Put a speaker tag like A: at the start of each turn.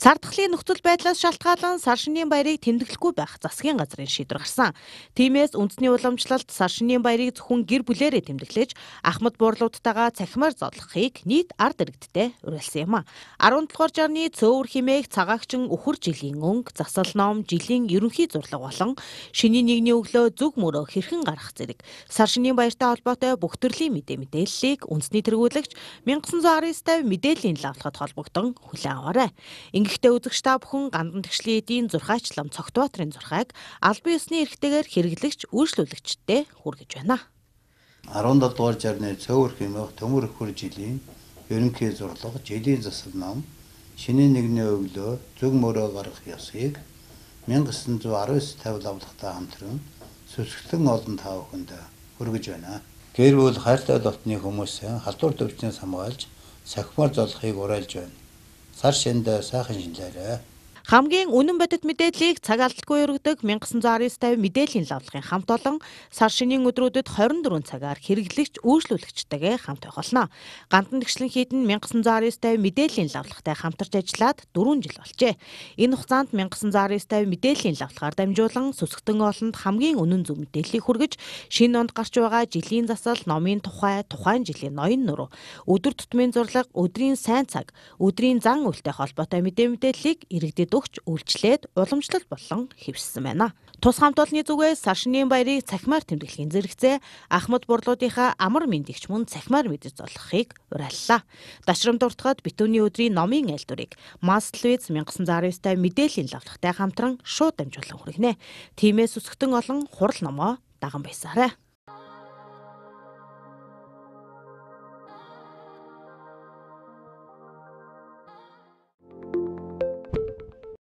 A: Сардахлын нөхцөл байдлаас шалтгаалan сар шинийн баярыг тэмдэглэхгүй байх засгийн газрын шийдвэр гарсан. Тиймээс үндэсний уламжлалт сар шинийн баярыг зөвхөн гэр бүлээрээ тэмдэглэж, ахмад буурлуудтайгаа цахимаар зодлохыг нийт ард иргэдтэй уриалсан юм а. 17 дугаар жарны цөөвөр химээх цагаагчин үхэр жилийн өнгө, засал ном, жилийн ерөнхий зурлаг болон шинийн нэгний өглөө зүг мөрөө хэрхэн гарах зэрэг сар шинийн баяртай холбоотой бүх төрлийн мэдээллийг үндэсний тэргүүлэгч 1919 мэдээллийн лавлахад холбогдсон хүлээн аваарай. Гэхдээ үзэгч та бүхэн гандан тэгшлийн эдийн зурхаачлам Цогтбаатрын зурхааг албан ёсны эрхтэйгээр хэрэглэгч үйлчлүүлэгчтэй хүргэж байна.
B: 17 дугаар жарны цөөвөр хэмээх төмөр өхөр жилийн ерөнхий зурлаг, жилийн засал ном, шинийн нэгний өглөө зүг мөрөө гарах ёсыг 1919 лавлахтай хамтран сүсгэлэн олон та бүхэнд хүргэж байна. Гэр бүл хайртай дотны хүмүүсийн халдвар төвчнөөс хамгаалж сахимаар золохыг уриалж байна. Сар шинд сайхан шинжлээрэй.
A: Хамгийн үнэн бодит мэдээллийг цаг алдалгүй өргөдөг 1919 мэдээллийн лавлагын хамт олон сар шинийн өдрүүдэд 24 цагаар хэрэглэгч үйлчлүүлэгчтэйгээ хамт байх болно. Гандан тэгшлэн хийдэн 1919 мэдээллийн лавлагтай хамтарч ажиллаад 4 жил болжээ. Энэ хугацаанд 1919 мэдээллийн лавлагаар дамжуулан сүсгтэн олонд хамгийн үнэн зөв мэдээллийг хүргэж, шинэ онд гарч байгаа жилийн засал, номын тухай, тухайн жилийн ноён нуруу, өдөр тутмын зурлаг, өдрийн сайн цаг, өдрийн зан үйлтэй холбоотой мэдээллийг иргэдэд өгч үйлчлээд уламжлалт болон хэвшсэн байна. Тус хамт олонны зүгээс сар шинийн баярыг цахимаар тэмдэглэхийн зэрэгцээ ахмад бурлуудынхаа амар мэндэгч мөн цахимаар мэдэж золохыг уриаллаа. Дашрам дуртахад битүүний өдрийн номын айлдварыг Mass Televiz 1919 мэдээллийн лавлагтай хамтран шууд дамжуулан хүргэнэ. Тиймээс өсгтөн олон хурал номоо даган байсаарай.